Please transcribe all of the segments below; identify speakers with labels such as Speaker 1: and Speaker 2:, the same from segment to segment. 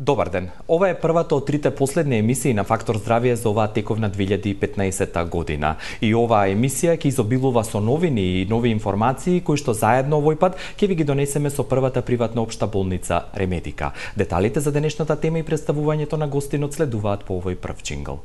Speaker 1: Добар ден. Ова е првата од трите последни емисии на Фактор здравје за оваа тековна 2015 година. И оваа емисија ќе изобилува со новини и нови информации кои што заедно овој пат ќе ви ги донесеме со првата приватна општа болница Ремедика. Деталите за денешната тема и представувањето на гостинот следуваат по овој прв џингл.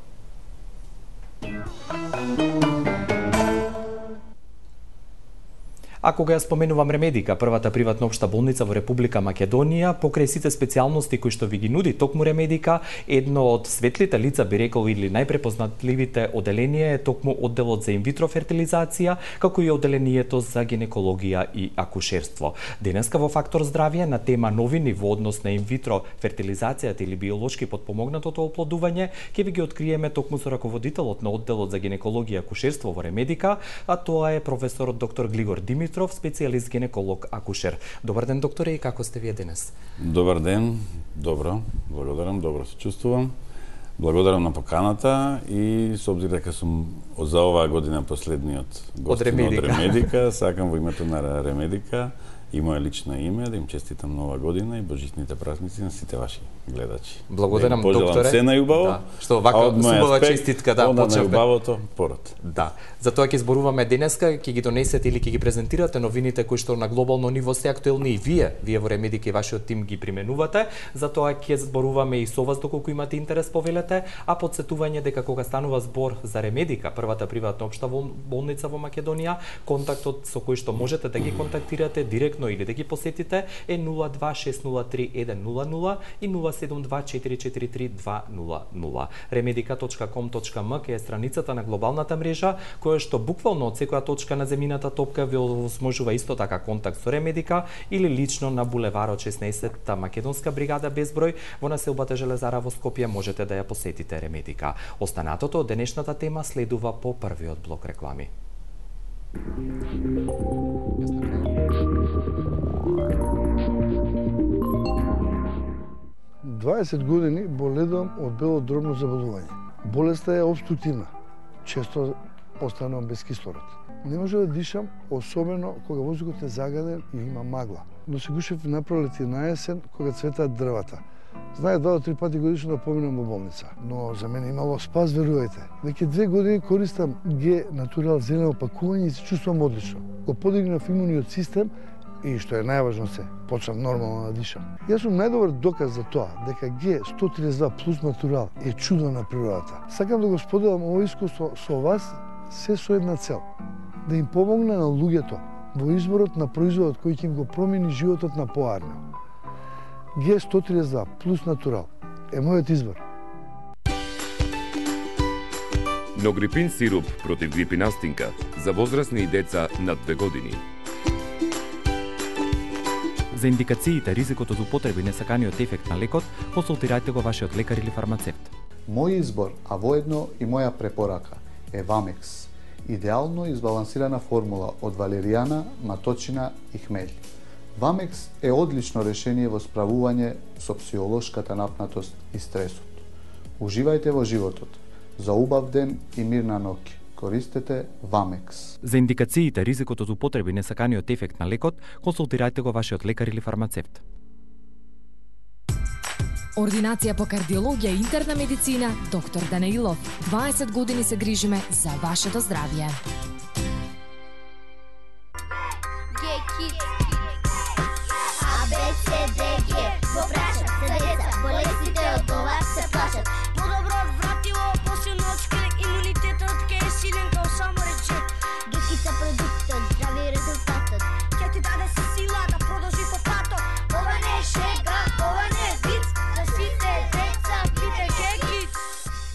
Speaker 1: А кога ја споменувам Ремедика, првата приватна општа болница во Република Македонија, покрај сите специјалности кои што ви ги нуди токму Ремедика, едно од светлите лица, би рекол, или најпрепознатливите оделенија е токму одделот за инвитро фертилизација, како и оделението за гинекологија и акушерство. Денеска во Фактор здравје на тема новини во однос на инвитро фертилизацијата или биолошки потпомогнатото оплодување, ќе ви ги откриеме токму со раководителот на одделот за гинекологија и акушерство во Ремедика, а тоа е професорот доктор Глигор Димитров, специјалист гинеколог акушер. Добар ден, докторе, и како сте вие денес?
Speaker 2: Добар ден, добро, благодарам, добро се чувствувам. Благодарам на поканата и со обзир дека сум за оваа година последниот гост од Ремедика, сакам во името на Ремедика и моје лично име да им честитам нова година и божитните празници на сите ваши гледачи.
Speaker 1: Благодарам, докторе.
Speaker 2: Пожелам се најубаво.
Speaker 1: Да, што вака субава честитка да почнеме.
Speaker 2: Најубавото пород.
Speaker 1: Да. Затоа ќе зборуваме денеска, ќе ги донесете или ќе ги презентирате новините кои што на глобално ниво се актуелни и вие во Ремедика и вашиот тим ги применувате. Затоа ќе зборуваме и со вас доколку имате интерес повелете, а подсетување дека кога станува збор за Ремедика, првата приватна општа болница во Македонија, контактот со кој што можете да ги контактирате директно или да ги посетите е 026031000 и 072443200. remedica.com.mk е страницата на глобалната мрежа, која што буквално од секоја точка на земјината топка ви овозможува исто така контакт со Ремедика или лично на булеварот 16-та Македонска бригада безброј во населбата Железара во Скопје можете да ја посетите Ремедика. Останатото од денешната тема следува по првиот блок реклами.
Speaker 3: 20 години боледувам од белодробно заболување. Болеста е обструктивна. Често останувам без кислород. Не може да дишам, особено кога воздухот е загаден и има магла. Но се гушев на пролет и на есен кога цветаат дрвата. Знае 2 до 3 пати годишно да поминам во болница, но за мене имало спас, верувајте. Веќе 2 години користам Г Натурал зелено опакување и се чувствувам одлично. Го подигнав имуниот систем и што е најважно се, почнав нормално да дишам. Јас сум најдобар доказ за тоа дека Г 132 плюс Натурал е чудо на природата. Сакам да го споделам ово искуство со вас се со една цел, да им помогне на луѓето во изборот на производот кој ќе им го промени животот на поарно. Г 132 плюс Натурал е мојот избор.
Speaker 4: Ногрипин сируп против грипи настинка за возрастни и деца над 2 години.
Speaker 1: За индикациите, ризикот од употреба и несаканиот ефект на лекот, консултирајте го вашиот лекар или фармацевт.
Speaker 5: Мој избор, а воедно и моја препорака е Вамекс. Идеално избалансирана формула од валеријана, маточина и хмелј. Вамекс е одлично решение во справување со психолошката напнатост и стресот. Уживајте во животот. За убав ден и мирна ноќ. Користете Вамекс.
Speaker 1: За индикациите, ризикот од употреба и несаканиот ефект на лекот, консултирајте го вашиот лекар или фармацевт.
Speaker 6: Ординација по кардиологија и интерна медицина, доктор Данаилов. 20 години се грижиме за вашето здравје.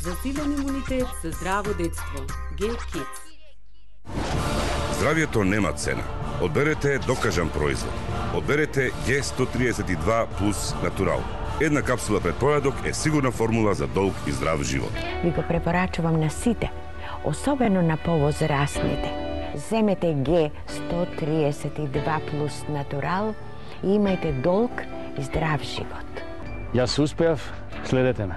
Speaker 7: Засилен имунитет за здраво детство. Г-Kids.
Speaker 4: Здравјето нема цена. Одберете докажан производ. Одберете Г132 плюс Натурал. Една капсула пред појадок е сигурна формула за долг и здрав живот.
Speaker 8: Ви го препорачувам на сите, особено на повозрастните. Земете Г132 плюс Натурал и имајте долг и здрав живот.
Speaker 9: Јас успеав, следете ме.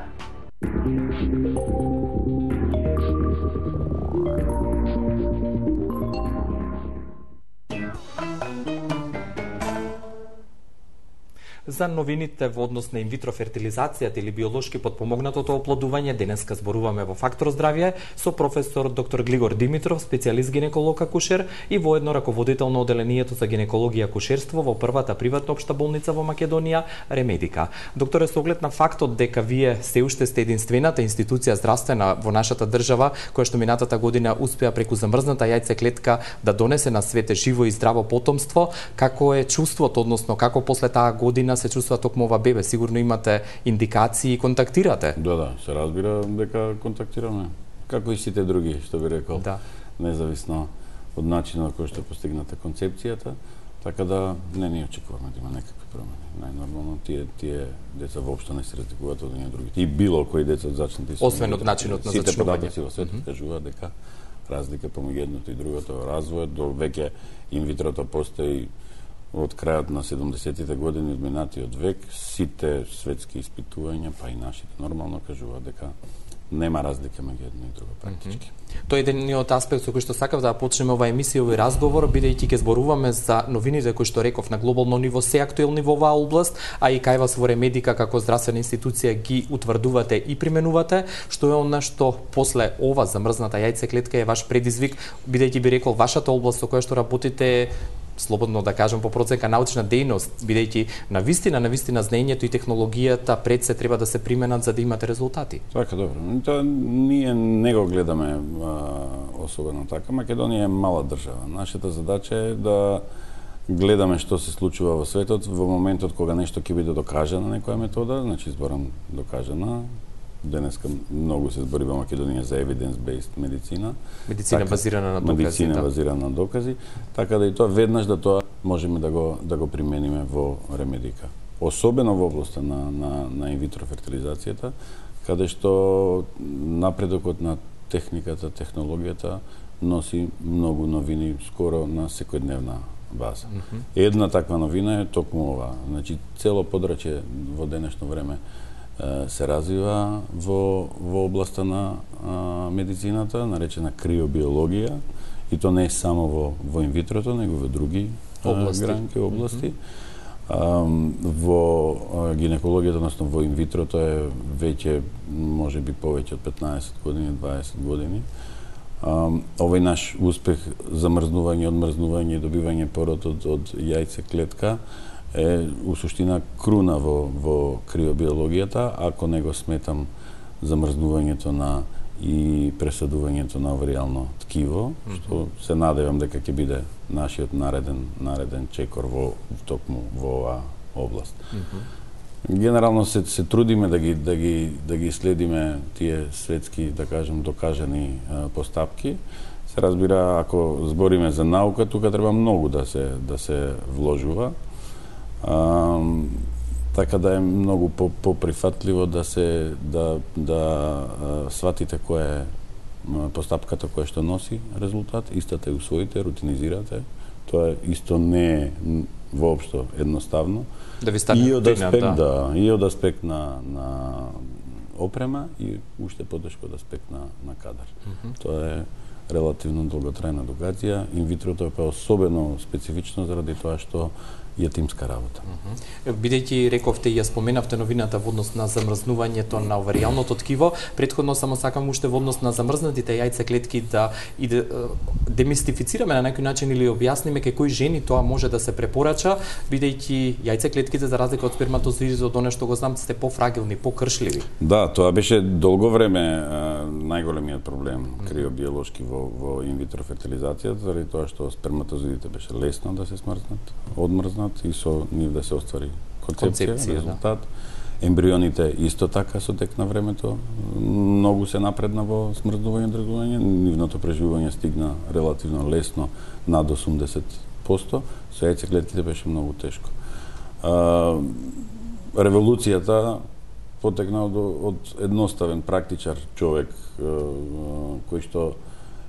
Speaker 1: За новините во однос на инвитро фертилизацијата или биолошки потпомогнатото оплодување, денеска зборуваме во Фактор здравје со професор доктор Глигор Димитров, специјалист гинеколог акушер и воедно раководител на оделението за гинекологија и акушерство во првата приватна општа болница во Македонија, Ремедика. Докторе, со оглед на фактот дека вие се уште сте единствената институција здравствена во нашата држава која што минатата година успеа преку замрзната јајцеклетка да донесе на свете живо и здраво потомство, како е чувството, односно како после таа година се чувствува токму ова бебе? Сигурно имате индикации и контактирате.
Speaker 2: Да, се разбира дека контактираме. Како и сите други, што би рекол.
Speaker 1: Да.
Speaker 2: Независно од начинот кој што постигната концепцијата, така да не очекуваме да има некакви промени. Најнормално тие деца воопшто не се разликуваат од едни другите. И било кои деца зачнати
Speaker 1: освен од начинот на зачнување.
Speaker 2: Сите податоци во светот кажуваат дека разлика помеѓу едното и другото развојот, до веќе инвитрото постои од крајот на 70-тите години од минатиот век. Сите светски испитувања, па и нашите, нормално кажуваат дека нема разлика меѓу едно и друго практички.
Speaker 1: Тој е едниот аспект со кој што сакав да почнеме оваа емисија, овој разговор, бидејќи ќе зборуваме за новините кои што реков на глобално ниво се актуелни во оваа област, а и кај вас во Ремедика како здравствена институција ги утврдувате и применувате, што е она што после ова замрзната јајцеклетка е ваш предизвик, бидејќи би рекол вашата област со која што работите, слободно да кажам по проценка научна дејност, бидејќи на вистина знаењето и технологијата пред се треба да се применат за да имате резултати.
Speaker 2: Така, добро. Тоа ние не го гледаме особено така. Македонија е мала држава. Нашата задача е да гледаме што се случува во светот во моментот кога нешто ќе биде докажано некоја метода, значи зборам докажана. Денеска многу се збори во Македонија за evidence-based медицина.
Speaker 1: Медицина базирана на докази.
Speaker 2: Медицина базирана на докази, така да и тоа веднаш да тоа можеме да го примениме во Ремедика. Особено во областа на инвитро фертилизацијата, каде што напредокот на техниката, технологијата носи многу новини скоро на секојдневна база. Една таква новина е токму ова. Значи цело подрачје во денешно време се развива во областа на медицината, наречена криобиологија, и то не е само во инвитрото, него во други области. Во гинекологијата, односно во инвитрото е веќе можеби повеќе од 15 години, 20 години. Овој наш успех замрзнување, одмрзнување и добивање пород од јајцеклетка е у суштина круна во криобиологијата, ако не го сметам замрзнувањето и пресадувањето на оваријално ткиво, што се надевам дека ќе биде нашиот нареден чекор токму во оваа област. Генерално се трудиме да ги следиме тие светски, да кажем, докажани постапки. Се разбира, ако збориме за наука, тука треба многу да се вложува. Така да е многу поприфатливо да сватите која е постапката која што носи резултат, истата ја усвоите, рутинизирате. Тоа исто не е воопшто едноставно.
Speaker 1: Да ви стане рутина,
Speaker 2: и од аспект на опрема и уште потешко од аспект на кадар. Тоа е релативно долготрајна едукација. Инвитрото е особено специфично заради тоа што е тимска работа.
Speaker 1: Бидејќи рековте и ја споменавте новината во однос на замрзнувањето на оваријалното ткиво, претходно само сакам уште во однос на замрзнатите јајцеклетки да демистифицираме на некој начин или објасниме кај кои жени тоа може да се препорача, бидејќи јајцеклетките за разлика од сперматозоидот, оно што го знам, сте пофрагилни, покршливи.
Speaker 2: Да, тоа беше долго време најголемиот проблем криобиолошки во инвитро фертилизацијата, заради тоа што сперматозоидите беше лесно да се смрзнат, одмрзнат и со нив да се оствари концепција, резултат. Да. Ембрионите исто така со тек на времето многу се напредна во смрзнување и држување, нивното преживување стигна релативно лесно над 80%, со јајцеклетките беше многу тешко. Револуцијата потекна од едноставен практичар човек кој што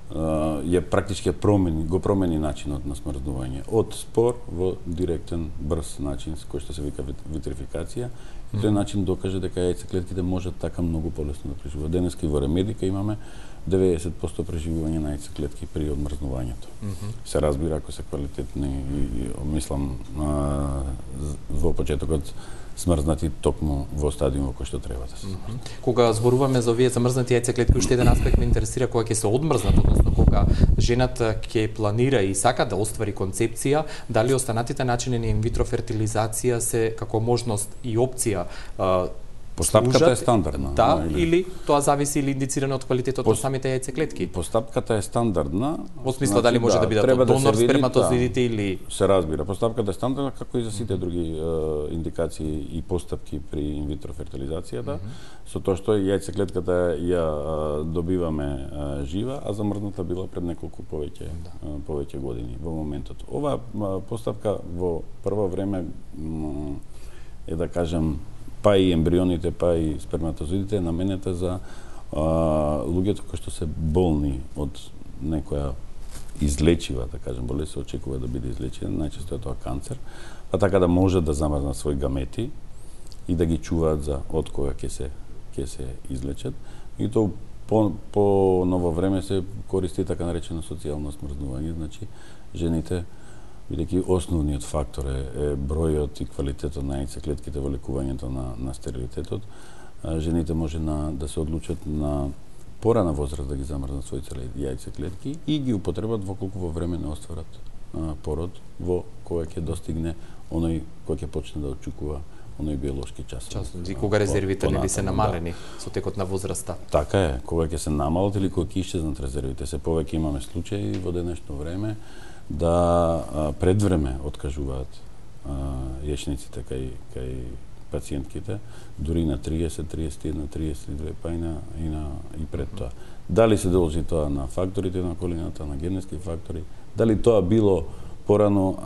Speaker 2: ја практички го промени начинот на смрзнување од спор во директен, брз начин кој што се вика витрификација. И тој начин докаже дека јајцеклетките можат така многу полесно да преживуваат. Денеска и во Ремедика имаме 90% преживување на яйцеклетки при одмрзнувањето. Се разбира ако се квалитетни и мислам во почетокот смрзнати токму во стадиумот кој што треба да се смрзнат.
Speaker 1: Кога зборуваме за овие замрзнати яйцеклетки, уште еден аспект ме интересира кога ќе се одмрзнат, односно кога жената ќе планира и сака да оствари концепција, дали останатите начини на инвитро фертилизација се како можност и опција
Speaker 2: Постапката е стандардна.
Speaker 1: Да, или тоа зависи или индицирано од квалитетот на самите яйцеклетки.
Speaker 2: Постапката е стандардна.
Speaker 1: Во смисла дали може да бидат од донор сперматозоидите или
Speaker 2: се разбира. Постапката е стандардна како и за сите други индикации и постапки при инвитро фертилизацијата, со тоа што яйцеклетката ја добиваме жива, а замрзната била пред неколку повеќе години во моментот. Оваа постапка во прво време е да кажем па и ембрионите, па и сперматозоидите е наменета за луѓето кои што се болни од некоја излечива, да кажем, болест се очекува да биде излечена, најчесто е тоа канцер, па така да може да замрзнат своји гамети и да ги чуваат за од кога ќе се излечат. И тоа по ново време се користи така наречено социјално смрзнување, значи жените бидејќи основниот фактор е бројот и квалитетот на яйцеклетките во лекувањето на стерилитетот, жените може да се одлучат на порана возраст да ги замрзнат своите јајцеклетки и ги употребат во колку во време не остварат пород, во кога ќе достигне оној кој ќе почне да очекува оној биолошки час.
Speaker 1: И кога резервите не би се намалени со текот на возраста.
Speaker 2: Така е, кога ќе се намалат или кога ќе исчезнат резервите. Се повеќе имаме случаи во денешно време да предвреме откажуваат јачниците кај пациентките, дури на 30, 31, 32, па и пред тоа. Дали се должи тоа на факторите на околината, на генетски фактори, дали тоа било порано,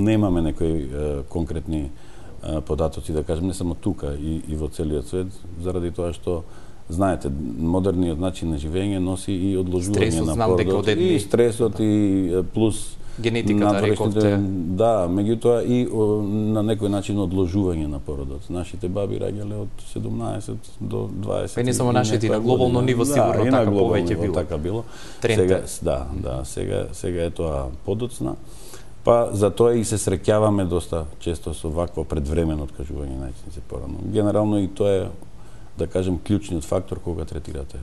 Speaker 2: немаме некои конкретни податоци, да кажем, не само тука и во целиот свет, заради тоа што знаете, модерниот начин на живење носи и одложување на породот, и стресот, и плюс
Speaker 1: генетиката, рековте.
Speaker 2: Да, меѓутоа и на некој начин одложување на породот. Нашите баби раѓале од 17 до 20.
Speaker 1: Не само нашите, и на глобално ниво сигурно така повеќе било.
Speaker 2: Така било. Сега е тоа подоцна. Па за тоа и се среќаваме доста често со вакво предвремено откажување на јајценици порано. Генерално и тоа е, да кажем, клучниот фактор кога третирате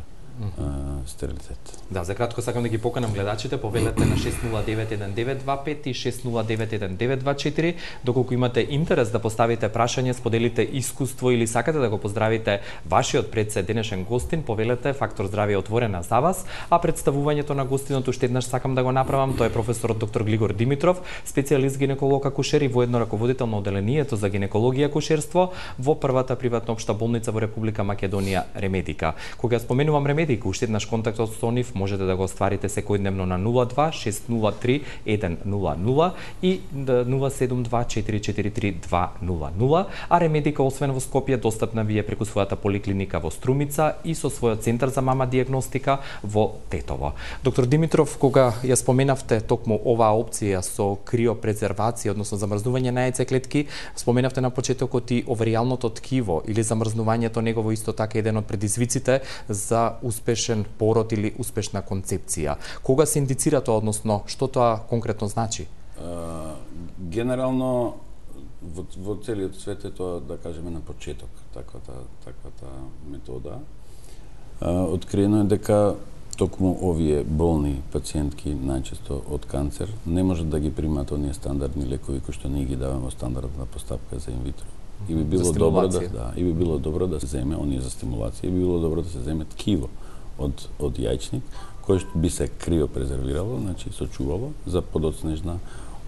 Speaker 2: стерилитет.
Speaker 1: Да, за кратко сакам да ги поканам гледачите, повелете на 6091925 и 6091924, доколку имате интерес да поставите прашање, споделите искуство или сакате да го поздравите вашиот председ денешен гостин, повелете, Фактор здравје отворена за вас, а представувањето на гостинот уште еднаш сакам да го направам, тој е професорот доктор Глигор Димитров, специјалист гинеколог акушер и воедно раководител на оделението за гинекологија и акушерство во првата приватна општа болница во Република Македонија Ремедика. Кога споменувам Ремедика, уште еднаш контактот со нив можете да го остварите секојдневно на 02-603-100 и 072-443-200, а Ремедика освен во Скопје достапна ви е преку својата поликлиника во Струмица и со својот центар за мама диагностика во Тетово. Доктор Димитров, кога ја споменавте токму оваа опција со криопрезервација, односно замрзнување на яйцеклетки, споменавте на почетокот и оверијалното ткиво или замрзнувањето негово исто така еден од предизвиците за успешен пород или успешна концепција. Кога се индицира тоа, односно што тоа конкретно значи?
Speaker 2: Генерално во целиот свет е тоа, да кажеме, на почеток таквата метода. Откриено е дека токму овие болни пациентки, најчесто од канцер, не можат да ги примаат оние стандардни лекови кои што ние ги даваме во стандардна постапка за инвитро. И би било добро да се земе оние за стимулација, и би било добро да се земе ткиво од јајчник кој што би се криопрезервирало, значи сочувало за подоцнежна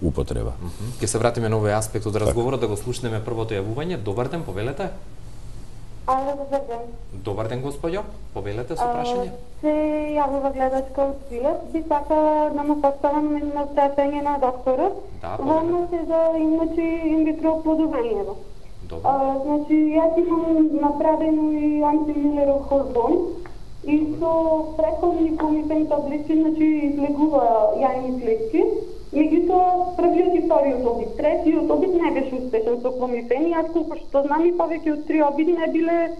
Speaker 2: употреба.
Speaker 1: Ќе се вратиме на овој аспект од разговорот, да го слушнеме првото јавување. Добар ден, повелете.
Speaker 10: Добар ден.
Speaker 1: Добар ден, господјо. Повелете со прашање.
Speaker 10: Се јавува гледачка од Свилет. Би сакала да му поставам едно прашање на докторот. Во однос за инвитро оплодувањето. Значи, јас имам направено и антимилеров хормон и со преходни комипен таблици, значи, излегува јајни клетки. Меѓутоа, првиот и вториот обид, третиот обид не беше успешен со кломифен и јас колку што знам и повеќе од 3 обиди не биле,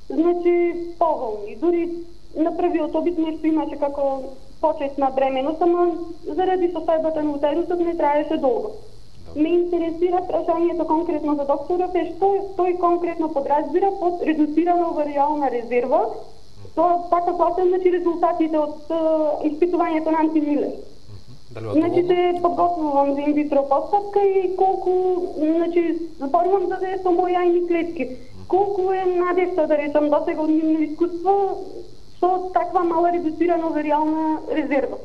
Speaker 10: значи, поволни. Дури на првиот обид нешто имаше како почет на бременост, ама заради состојбата на утерусот не траеше долго. Ме интересира прашањето конкретно за докторот е што тој конкретно подразбира под редуцирана оваријална резерва. Тоа така платам, значи резултатите од испитувањето на антимилер. Значи се подготвувам за инвитро постапка и колку, значи запорувам за да е со мои јајни клетки. Колку е надежта да речам досега од нивно искуство со таква мала редуцирана оваријална резерва.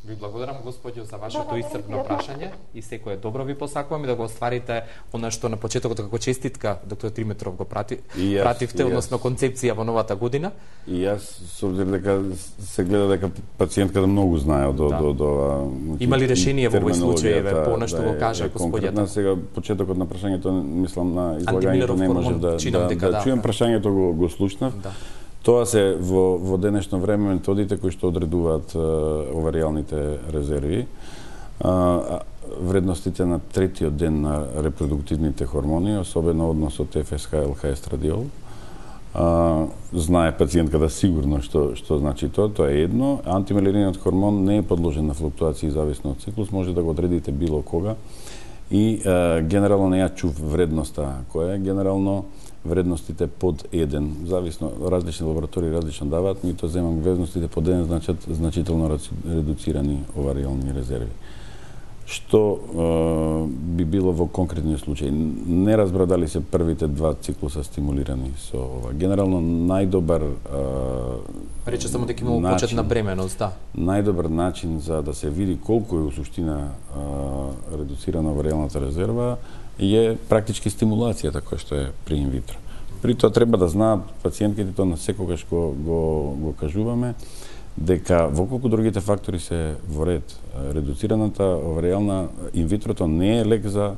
Speaker 1: Ви благодарам, господјо, за вашето исцрпно прашање и секое добро ви посакувам и да го остварите она што на почетокот како честитка доктор Димитров го пративте, односно концепција во новата година.
Speaker 2: И јас, со обзир дека се гледа дека пациентката многу знае од ова.
Speaker 1: Има ли решение во овој случај, понешто го кажа господјата?
Speaker 2: Сега почетокот на прашањето, мислам на излагањето не може да чуем прашањето го слушнав. Тоа се во денешно време методите кои што одредуваат оваријалните резерви, вредностите на третиот ден на репродуктивните хормони, особено односот ФСХ-ЛХ естрадиол. Знае пациентката сигурно што значи тоа е едно. Антимелериниот хормон не е подложен на флуктуации зависно од циклус, може да го одредите било кога. И генерално не ја чув вредноста која е генерално вредностите под 1, зависно, различни лаборатории различно даваат, ми тоа земам вредностите под 1 значат значително редуцирани оваријални резерви. Што би било во конкретниот случај? Не разбра дали се првите 2 ciклуса стимулирани со ова. Генерално најдобар
Speaker 1: рече само дека има почет на бременост, да.
Speaker 2: Најдобар начин за да се види колку е у суштина редуцирана оваријалната резерва е практички стимулацијата која што е при инвитро. При тоа треба да знаат пациентките, тоа на секогаш го кажуваме, дека во колку другите фактори се во ред, редуцираната оваријална инвитрото не е лек за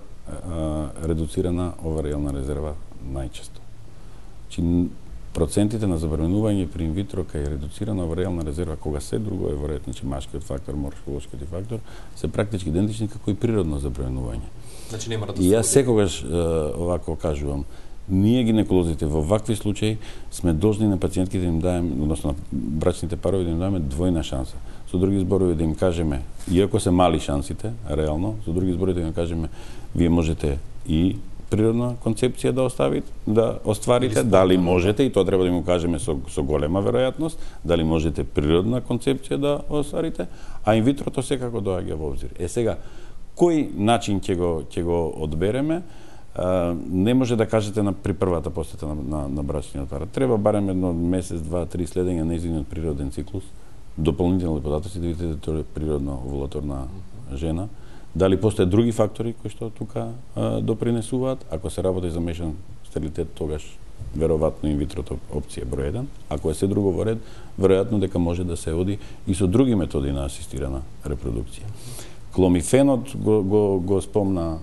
Speaker 2: редуцирана оваријална резерва најчесто. Значи, процентите на забременување при инвитро кај редуцирана оваријална резерва, кога се друго е во ред, значи машкиот фактор, морфолошкиот фактор, се практички идентични како и природно забременување.
Speaker 1: Значи нема да се.
Speaker 2: И јас секогаш овако кажувам, ние гинеколозите во вакви случаи сме должни на пациентките да им даем, односно на брачните парови да им даеме двојна шанса. Со други зборови да им кажеме, иако се мали шансите, реално, со други зборови да им кажеме, вие можете и природна концепција да остварите, дали можете, и тоа треба да им кажеме со голема веројатност, дали можете природна концепција да остварите, а инвитрото секако доаѓа во обзир. Сега, кој начин ќе го одбереме? Не може да кажете при првата посета на брачниот парот. Треба барем едно месец, 2-3 следење на нејзиниот природен циклус, дополнителни податоци да видите дека тоа е природна овулаторна жена. Дали постојат други фактори кои што тука допринесуваат? Ако се работи за мешан стерилитет, тогаш веројатно инвитрото опција број 1. Ако е се друго во ред, веројатно дека може да се оди и со други методи на асистирана репродукција. Кломифенот го спомна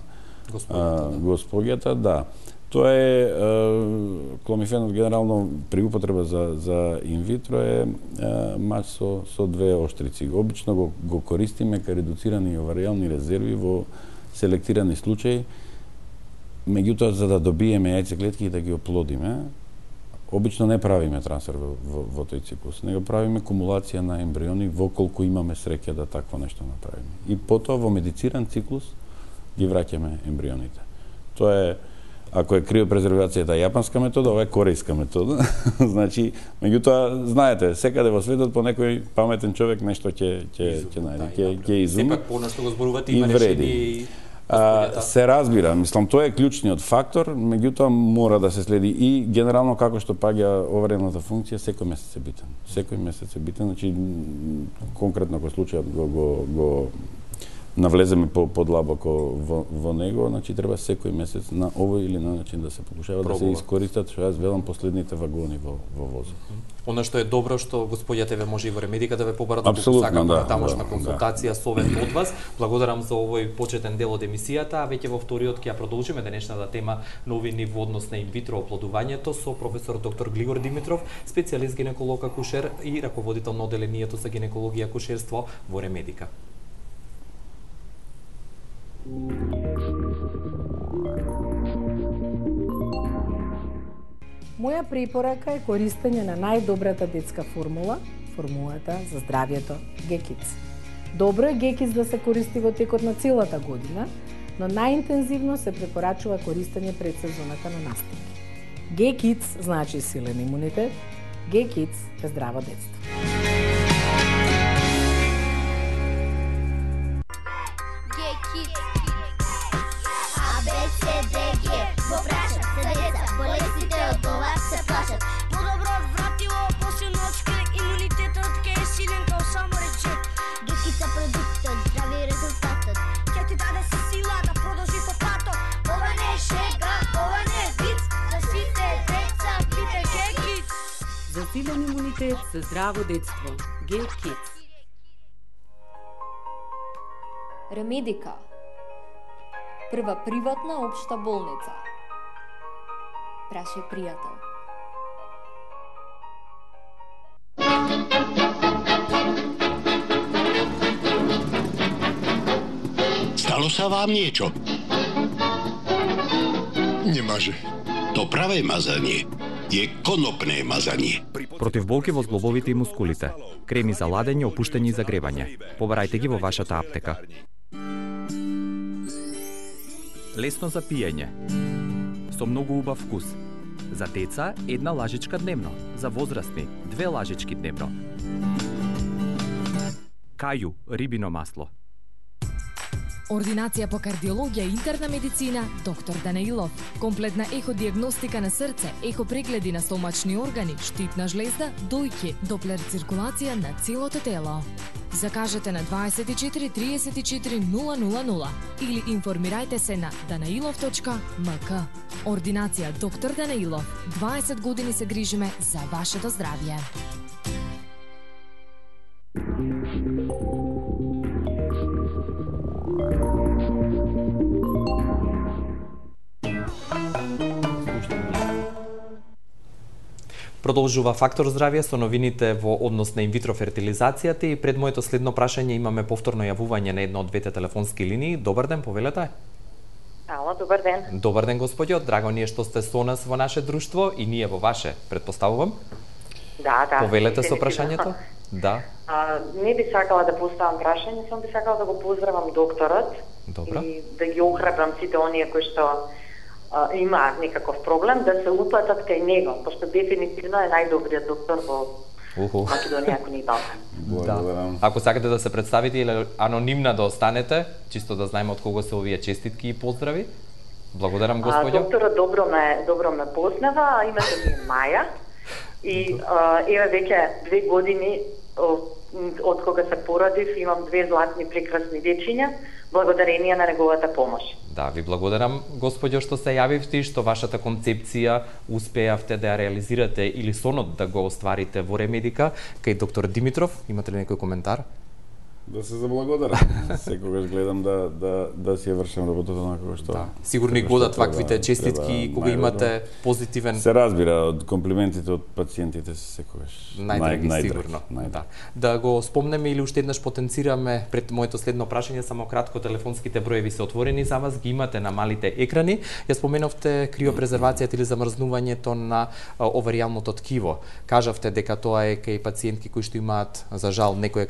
Speaker 2: господјата, да. Тоа е кломифенот генерално при употреба за инвитро е мач со двеоштрици. Обично го користиме кај редуцирани оваријални резерви во селектирани случаи. Меѓутоа, за да добиеме јајцеклетки и да ги оплодиме, обично не правиме трансфер во тој циклус, него правиме кумулација на ембриони во колку имаме среќа да такво нешто направиме. И потоа во медициран циклус ги враќаме ембрионите. Тоа е, ако е криопрезервацијата јапанска метода, ова е корејска метода. Значи, меѓутоа, знаете, секаде во светот по некој паметен човек нешто ќе најде, ќе изуми.
Speaker 1: Сепак понешто го зборувате, има решение.
Speaker 2: Се разбира, мислам, тоа е клучниот фактор, меѓутоа мора да се следи и генерално како што паѓа оваријалната функција, секој месец е битен. Секој месец е битен, значи конкретно кој случајот го навлеземе подлабоко во него, значи треба секој месец на овој или на начин да се покушава да се искористат, што јас велам, последните вагони во возот.
Speaker 1: Она што е добро што господјата ве може и во Ремедика да ве побара да сакаме на тамошна консултација, совет од вас. Благодарам за овој почетен дел од емисијата, а веќе во вториот ќе ја продолжиме денешната тема новини во однос на инвитро оплодувањето со професор доктор Глигор Димитров, специјалист гинеколог акушер и раководител на оделението за гинекологија и акушерство во Ремедика.
Speaker 11: Моја препорака е користење на најдобрата детска формулата за здравјето G-Kids. Добро е G-Kids да се користи во текот на целата година, но најинтензивно се препорачува користење пред сезоната на настинки. G-Kids значи силен имунитет, G-Kids е здраво детство.
Speaker 12: Во прашат се деца, болестите од ова се плашат. Подобро вратило, посилно од шкрек, имунитетот ке е силен као само речек. Гекица продуктот, здрави резултатот, ке ти даде се сила да продолжи по патот. Ова не е шега, ова не е виц, за сите деца пите G-Kids.
Speaker 7: За силен имунитет, за здраво детство, G-Kids.
Speaker 13: Ремедика, прва приватна општа болница. Прашај пријател.
Speaker 14: Stalo sa vám niečo?
Speaker 15: Немаже.
Speaker 14: To pravé mazanie je konopné mazanie.
Speaker 1: Против болки во зглобовите и мускулите. Креми за ладење, опуштање и загревање. Побарајте ги во вашата аптека. Лесно за пиење. Со многу убав вкус. За деца, 1 лажичка дневно. За возрастни, 2 лажички дневно. Кају, рибино масло.
Speaker 6: Ординација по кардиологија и интерна медицина, доктор Данаилов. Комплетна еходиагностика на срце, ехопрегледи на стомачни органи, штитна жлезда, дојки, доплер циркулација на целото тело. Закажете на 24 34 000 или информирајте се на danailov.mk. Ординација доктор Данаилов. 20 години се грижиме за вашето здравје.
Speaker 1: Продолжува Фактор здравје со новините во однос на инвитро фертилизацијата и пред моето следно прашање имаме повторно јавување на една од двете телефонски линии. Добар ден, повелете.
Speaker 16: Ало, добар ден.
Speaker 1: Добар ден, господјо. Драго ни е што сте со нас во наше друштво и ние во ваше, предпоставувам.
Speaker 16: Да.
Speaker 1: Повелете со прашањето. Да.
Speaker 16: Не би сакала да поставам прашање, само би сакала да го поздравам докторот.
Speaker 1: Добро.
Speaker 16: И да ги охрабрам сите оние кои што има некаков проблем да се упатат кај него, пошто дефинитивно е најдобриот доктор во Македонија, ако не и Балкан.
Speaker 1: Да. Ако сакате да се представите или анонимна да останете, чисто да знаеме од кого се овие честитки и поздрави. Благодарам, господјо.
Speaker 16: Докторот добро ме познава, името ми е Маја. И еве веќе 2 години од кога се породив, имам 2 златни прекрасни дечиња, благодарение на неговата помош.
Speaker 1: Да, ви благодарам, господјо, што се јавивте и што вашата концепција успеавте да ја реализирате или сонот да го остварите во Ремедика. Кај доктор Димитров, имате ли некој коментар?
Speaker 2: Да се заблагодарам. Секогаш гледам да си ја вршам работата на кога што.
Speaker 1: Да. Сигурно и годат ваквите честитки кога имате позитивен.
Speaker 2: Се разбира од комплиментите од пациентите секогаш.
Speaker 1: Најдраги сигурно. Да го спомнеме или уште еднаш потенцираме пред моето следно прашање, само кратко, телефонските броеви се отворени за вас, ги имате на малите екрани. Ја споменавте криопрезервацијата или замрзнувањето на оваријалното ткиво. Кажавте дека тоа е кај пациентки кои што имаат за жал некој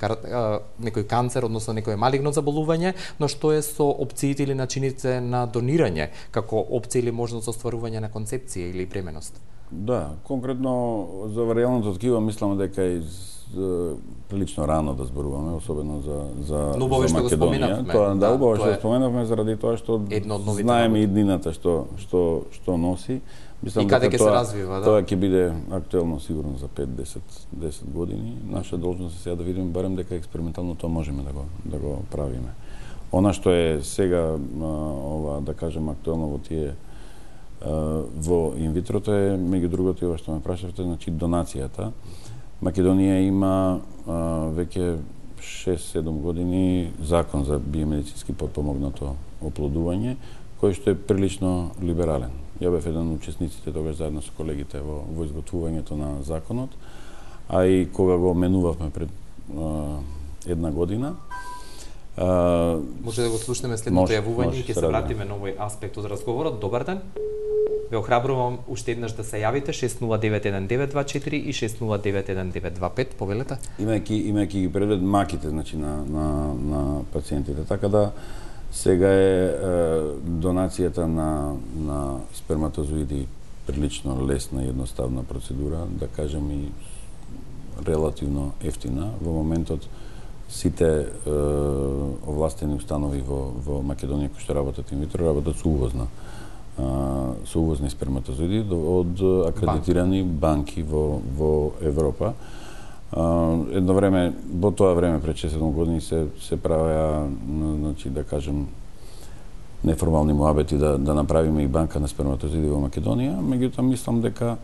Speaker 1: канцер, односно некое малигно заболување, но што е со опциите или начините на донирање, како опција или можност за остварување на концепција или бременост?
Speaker 2: Да, конкретно за оваријалното ткиво мислам дека е прилично рано да зборуваме, особено за Македонија. Тоа убаво што го споменавме заради тоа што знаеме и иднината што носи. Мислам
Speaker 1: и каде ќе се развива, да?
Speaker 2: Тоа ќе биде актуелно сигурно за 5-10 години. Наша должност е сега да видиме барем дека експериментално тоа можеме да го правиме. Она што е сега ова да кажем актуелно во тие во инвитрото е меѓу другото и ова што ме прашавте, значи донацијата. Македонија има веќе 6-7 години закон за биомедицински потпомогнато оплодување, кој што е прилично либерален. Ја бев еден од учесниците тогаш заедно со колегите во изготвувањето на законот, а и кога го менувавме пред 1 година.
Speaker 1: Може да го слушнеме следното јавување и ќе се вратиме на овој аспект од разговорот. Добар ден. Ве охрабрувам уште еднаш да се јавите 6091924 и 6091925, повелете.
Speaker 2: Имајќи ги предвид маките, значи на пациентите, така да сега е донацијата на сперматозоиди прилично лесна и едноставна процедура, да кажем и релативно ефтина. Во моментот сите овластени установи во Македонија кои што работат инвитро работат со увозни сперматозоиди од акредитирани банки во Европа. Едно време, во тоа време пред 6-7 години се правеа, значи да кажем, неформални муабети да направиме и банка на сперматозоиди во Македонија, меѓутоа мислам дека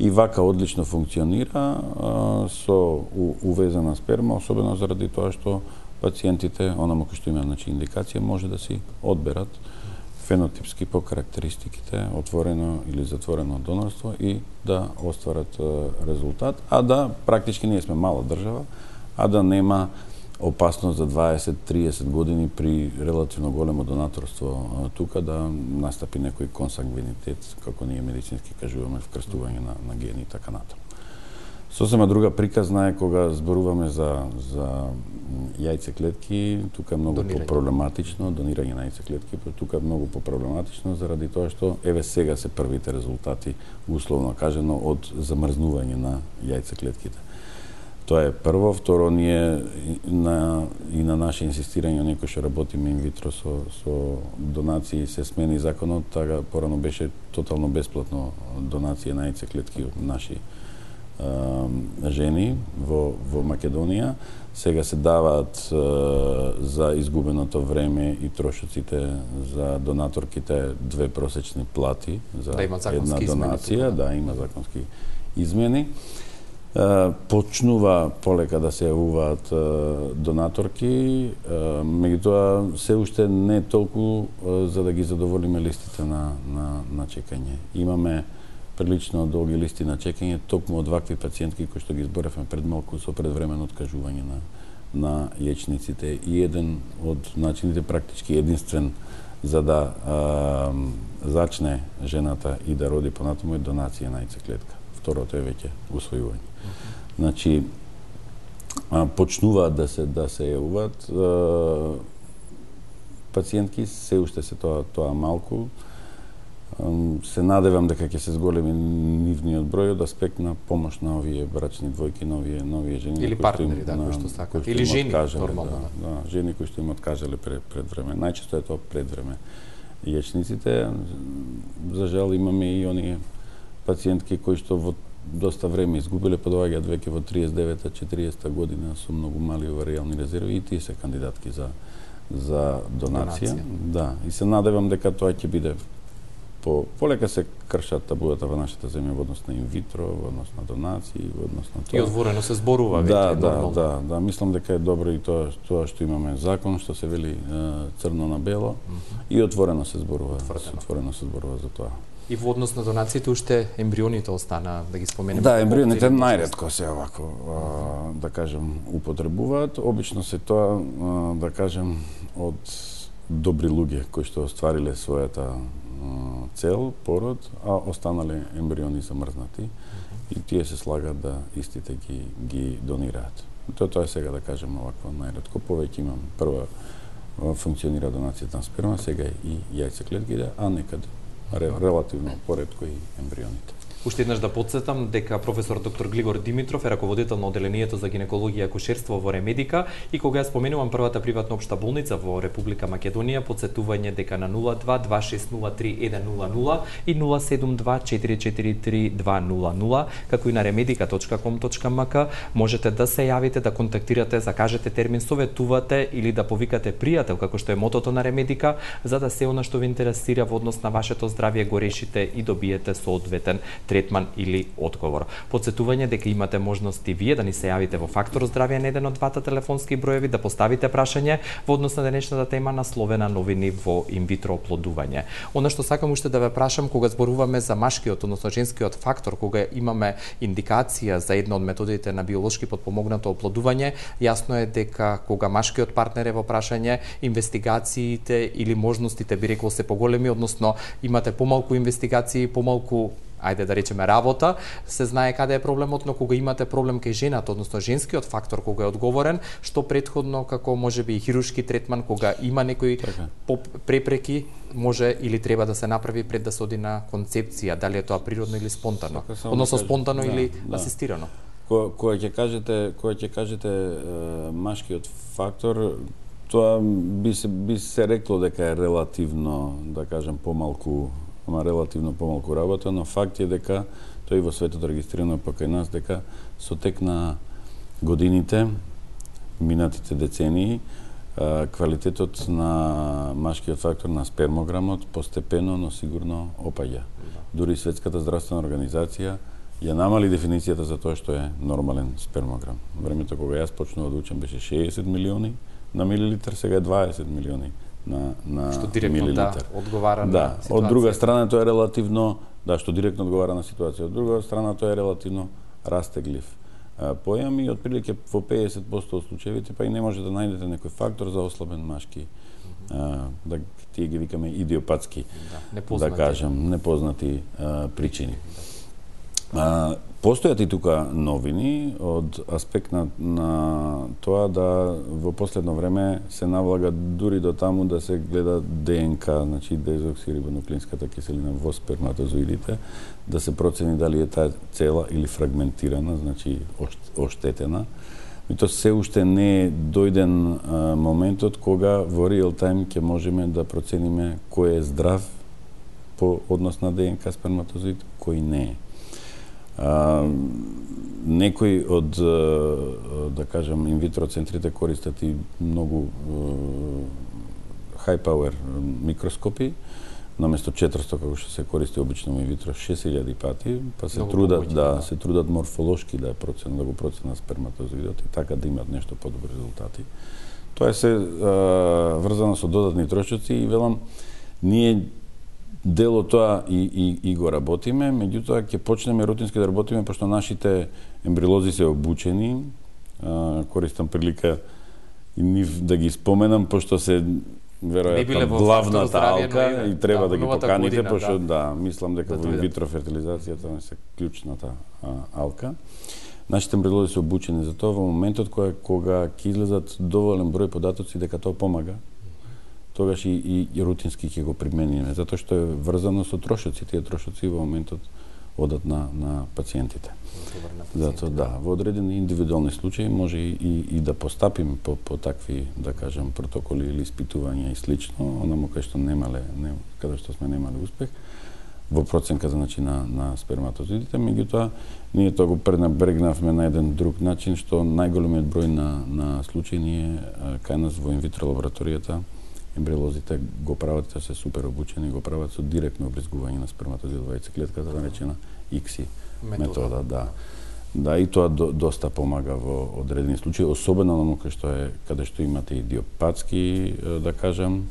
Speaker 2: и вака одлично функционира со увезена сперма, особено заради тоа што пациентите, онома кој што има индикација, може да си одберат фенотипски по карактеристиките отворено или затворено донорство и да остварат резултат, а да практички ние сме мала држава, а да нема опасност за 20-30 години при релативно големо донаторство тука да настапи некој консангвинитет, како ние медицински кажуваме, вкрстување на гени и така натаму. Сосема друга приказна е кога зборуваме за јајцеклетки, тука е многу по-проблематично, донирање на јајцеклетки, тука е многу по-проблематично заради тоа што еве сега се првите резултати, условно кажано, од замрзнување на јајцеклетките. Тоа е прво, второ, ние и на наше инсистирање, некој што работиме инвитро со донации, се смени законот, така порано беше тотално бесплатно донација на јајцеклетки од наши жени во Македонија. Сега се даваат за изгубеното време и трошоците за донаторките 2 просечни плати за една донација. Да, има законски измени. Почнува полека да се јавуваат донаторки, меѓутоа се уште не толку за да ги задоволиме листите на чекање. Имаме прилично долги листи на чекање токму од вакви пациентки кои што ги изборевме пред малку со предвремено откажување на јечниците и еден од начините, практички единствен за да зачне жената и да роди понатаму е донација на јајцеклетка. Второто е веќе усвојување. Значи почнуваат да се јавуваат пациентки, се уште се тоа малку. Се надевам дека ќе се зголеми нивниот број од аспект на помош на овие брачни двојки, на овие жени
Speaker 1: или партнери, кои што сакаат, или жени нормално.
Speaker 2: Да, жени кои што им откажале пред време. Најчесто е тоа пред време. Јечниците, за жал, имаме и оние пациентки кои што во доста време изгубиле, па доаѓаат веќе во 39-40 година со многу мали оваријални резерви и тие се кандидатки за донација. Да, и се надевам дека тоа ќе биде полека се кршат табуата во нашата земја во однос на инвитро, во однос на донации, во однос на тоа.
Speaker 1: И отворено се зборува веќе
Speaker 2: нормално. Да, мислам дека е добро и тоа што имаме закон што се вели црно на бело и отворено се зборува. Отворено се зборува за тоа.
Speaker 1: И во однос на донациите уште ембрионите остана, да ги споменеме.
Speaker 2: Да, ембрионите најретко се овако, да кажем, употребуваат. Обично се тоа, да кажем, од добри луѓе кои што оствариле својата цел, пород, а останале ембриони замрзнати и тие се слагат да истите ги донираат. Тоа е сега, да кажем, овакво најретко. Повеќе имам прва функционира донацијата на сперма, сега и јајцеклетките, а некаде релативно поретко и ембрионите.
Speaker 1: Уште еднаш да подсетам дека професор доктор Глигор Димитров е раководител на оделението за гинекологија и акушерство во Ремедика и кога ја споменувам првата приватна општа болница во Република Македонија, подсетување дека на 02-2603-100 и 072-443-200, како и на remedica.com.mk можете да се јавите, да контактирате, закажете термин, советувате или да повикате пријател, како што е мотото на Ремедика, за да се она што ве интересира во однос на вашето здравје го решите и добиете соодветен третман или одговор. Подсетување дека имате можности вие да ни се јавите во Фактор здравје на еден од двата телефонски броеви, да поставите прашање во однос на денешната тема насловена новини во инвитро оплодување. Она што сакам уште да ве прашам, кога зборуваме за машкиот, односно женскиот фактор, кога имаме индикација за една од методите на биолошки подпомогнато оплодување, јасно е дека кога машкиот партнер е во прашање, инвестигациите или можностите би рекол се поголеми, односно имате помалку инвестигации, помалку ајде да речеме работа, се знае каде е проблемот, но кога имате проблем кај жената, односно женскиот фактор кога е одговорен, што претходно како можеби и хируршки третман, кога има некои препреки, може или треба да се направи пред да се оди на концепција, дали е тоа природно или спонтано, односно спонтано или асистирано.
Speaker 2: Кога ќе кажете машкиот фактор, тоа би се рекло дека е релативно, да кажем, релативно помалку работа, но факт е дека тој во светот регистрирано па кај нас дека со тек на годините, минатите децении, квалитетот на машкиот фактор на спермограмот постепено, но сигурно опаѓа. Дури Светската здравствена организација ја намали дефиницијата за тоа што е нормален спермограм. Времето кога јас почнував да учам беше 60 милиони на милилитар, сега е 20 милиони на
Speaker 1: што директно
Speaker 2: милилитар.
Speaker 1: Одговара на ситуација.
Speaker 2: Од друга страна тоа е релативно, што директно одговара на ситуација. Од друга страна тоа е релативно растеглив појам и отприлике во 50% од случаевите па и не може да најдете некој фактор за ослабен машки, да тие ги викаме идиопатски, да кажем, непознати причини. Постојат и тука новини од аспект на тоа да во последно време се навлага дури до таму да се гледа ДНК, значи дезоксирибонуклеинската киселина во сперматозоидите, да се процени дали е таа цела или фрагментирана, значи оштетена. И тоа се уште не е дојден моментот кога во реал тајм ќе можеме да процениме кој е здрав по однос на ДНК сперматозоид, кој не е. Некои од, да кажем, инвитро центрите користат и многу high power микроскопи, наместо 400 како што се користи обично во инвитро 6000 пати, па се трудат се трудат морфолошки да го проценат сперматозоидот и така да имат нешто подобри резултати. Тоа е се врзано со додатни трошоци и велам ние дело тоа и го работиме, меѓутоа ќе почнеме рутински да работиме пошто нашите ембриолози се обучени. Користам прилика и нив да ги споменам пошто се веројатно главната алка и треба да ги поканите пошто мислам дека во инвитро фертилизацијата не се клучната алка. Нашите ембриолози се обучени за тоа во моментот кога ќе излезат доволен број податоци дека тоа помага, тогаш и рутински ќе го примениме, затоа што е врзано со трошоци. Тие трошоци во моментот одат на пациентите. Затоа во одредени индивидуални случаи може и да постапиме по такви, да кажем, протоколи или испитувања и слично, онамо кај што каде што сме немале успех во проценка значи на сперматозоидите, меѓутоа ние тоа го пренебрегнавме на еден друг начин, што најголемиот број на случаи ние кај нас во инвитро лабораторијата ембриолозите го прават, те се супер обучени, го прават со директно обризгување на сперматозоид во яйцеклетката, наречена ICSI метода. Да, и тоа доста помага во одредени случаи, особено на каде што имате идиопатски, да кажам,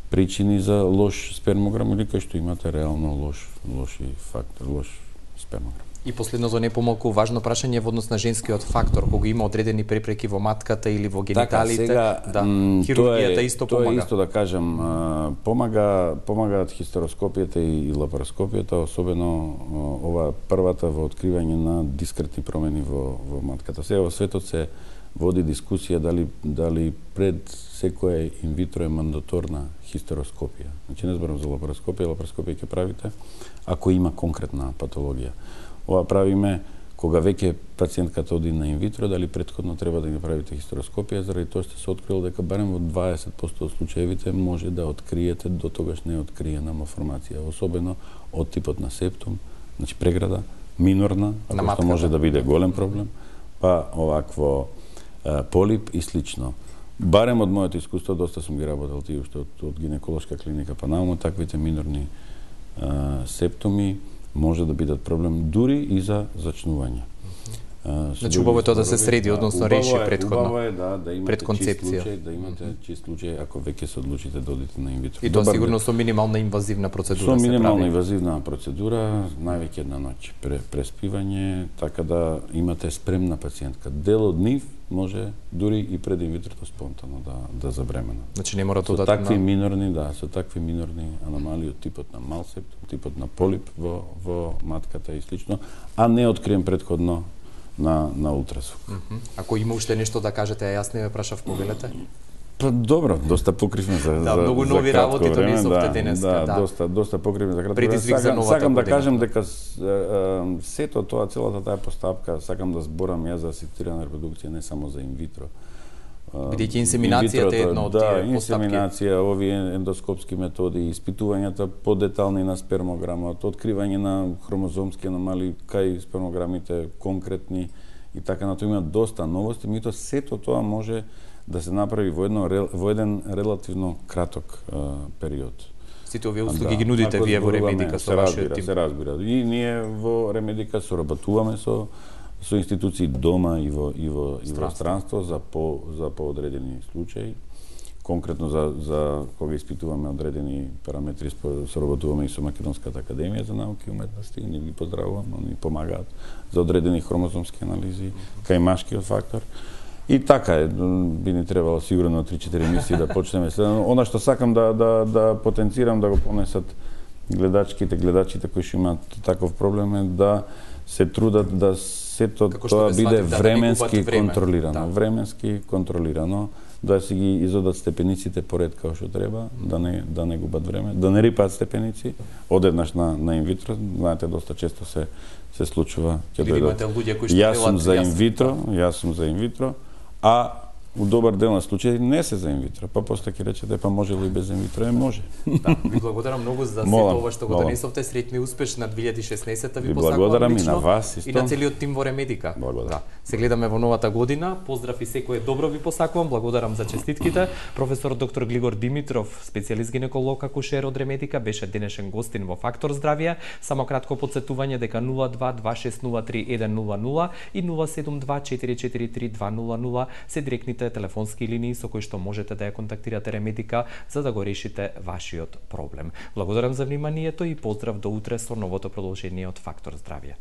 Speaker 2: причини за лош спермограм или кај што имате реално лоши фактор, лош спермограм.
Speaker 1: И последното не помалку важно прашање во однос на женскиот фактор, кога има одредени препреки во матката или во гениталите, хирургијата исто помага.
Speaker 2: Тоа исто да кажам, помагаат хистероскопијата и лапароскопијата, особено ова првата во откривање на дискретни промени во матката. Сега во светот се води дискусија дали пред секоја инвитро е мандаторна хистероскопија. Значи не зборам за лапароскопија ќе правите ако има конкретна патологија. Ова правиме кога веќе пациентката оди на инвитро, дали претходно треба да ги правите хистероскопија, заради тоа што се открило дека барем во 20% од случаевите може да откриете до тогаш неоткриена малформација, особено од типот на септум, значи преграда, минорна, ако што може да биде голем проблем, па овакво полип и слично. Барем од моето искуство, доста сум ги работел тие уште од гинеколошка клиника па наомо, таквите минорни септуми може да бидат проблем дури и за зачнување.
Speaker 1: Значи убаво е тоа да се среди, односно реши претходно.
Speaker 2: Убаво е да имате чист случај, чист случај ако веќе се одлучите да одите на инвитро.
Speaker 1: И тоа сигурно со минимална инвазивна процедура
Speaker 2: се прави. Со минимална инвазивна процедура, највеќе една ноќ преспивање, така да имате спремна пациентка. Дел од нив може дури и пред инвитрото спонтано да забремена.
Speaker 1: Значи не мора тоа
Speaker 2: да такви минорни, со такви минорни аномалии од типот на мал септум, типот на полип во матката и слично, а не откриен претходно на ултразвук.
Speaker 1: Ако има уште нешто да кажете, јас не ме прашав, повелете?
Speaker 2: Па добро, доста покривме за
Speaker 1: многу нови работи донесовте денеска,
Speaker 2: доста покривме за кратко време.
Speaker 1: Предизвик за новата
Speaker 2: сакам
Speaker 1: година.
Speaker 2: Да кажем дека сето тоа, целата таа постапка, сакам да зборам ја за асистирана репродукција, не само за инвитро.
Speaker 1: Бидејќи инсеминацијата е една од тие постапки.
Speaker 2: Инсеминација, овие ендоскопски методи, испитувањата подетални на спермограмот, откривање на хромозомски аномалии кај спермограмите конкретни и така на тоа има доста новости, меѓутоа сето тоа може да се направи во еден релативно краток период.
Speaker 1: Сите овие услуги ги нудите вие во Ремедика со вашиот тим?
Speaker 2: Се разбира. И ние во Ремедика соработуваме со институции дома и во странство за поодредени случаи. Конкретно за кога испитуваме одредени параметри, соработуваме и со Македонската академија за науки и уметности, и ние ги поздравувам, они помагаат за одредени хромозомски анализи кај машкиот фактор. И така е, би ни требало сигурно 3-4 емисии да почнеме следно. Она што сакам да потенцирам да го понесат гледачите кои што имаат таков проблем е да се трудат да сето тоа биде временски контролирано, временски контролирано, да си ги изодат степениците поред како што треба, да не губат време, да не рипаат степеници, одеднаш на инвитро, знаете доста често се случува ќе дојдат. Јас сум за инвитро, а у добар дел на случаи не се за инвитро, па после ќе речете па може ли без инвитро? Може.
Speaker 1: Да, ви благодарам многу за сето ова што го донесовте, среќни успеш на 2016-та ви посакувам
Speaker 2: благодарам
Speaker 1: лично,
Speaker 2: и на вас исто.
Speaker 1: И на целиот тим во Ремедика. Да. Се гледаме во новата година. Поздрав и секое добро ви посакувам. Благодарам за честитките. Професор доктор Глигор Димитров, специјалист гинеколог акушер од Ремедика, беше денешен гостин во Фактор здравје. Само кратко потсетување дека 0226031000 и 072443200 се директните телефонски линии со кои што можете да ја контактирате Ремедика за да го решите вашиот проблем. Благодарам за вниманието и поздрав до утре со новото продолжение од Фактор здравје.